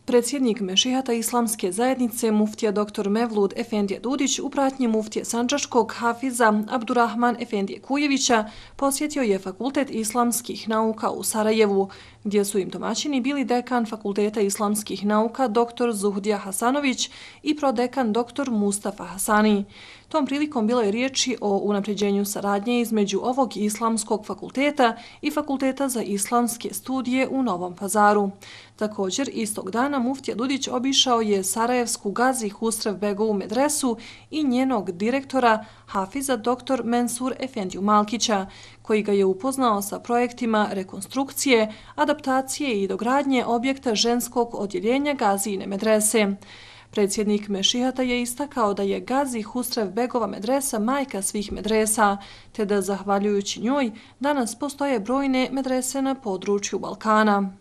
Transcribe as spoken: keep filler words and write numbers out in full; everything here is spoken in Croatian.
Predsjednik Mešihata Islamske zajednice muftija doktor Mevlud Efendije Dudić u pratnji muftije Sandžačkog Hafiza Abdurrahman Efendije Kujevića posjetio je Fakultet islamskih nauka u Sarajevu, gdje su im domaćini bili dekan Fakulteta islamskih nauka doktor Zuhdija Hasanović i prodekan doktor Mustafa Hasani. Tom prilikom bilo je riječi o unapređenju saradnje između ovog islamskog fakulteta i Fakulteta za islamske studije u Novom Pazaru. Također, istog dana muftija Dudić obišao je sarajevsku Gazi Husrev Begovu medresu i njenog direktora Hafiza doktor Mensur Efendiju Malkića, koji ga je upoznao sa projektima rekonstrukcije, adaptacije i dogradnje objekta ženskog odjeljenja Gazijine medrese. Predsjednik Mešihata je istakao da je Gazi Husrev Begova medresa majka svih medresa, te da zahvaljujući njoj danas postoje brojne medrese na području Balkana.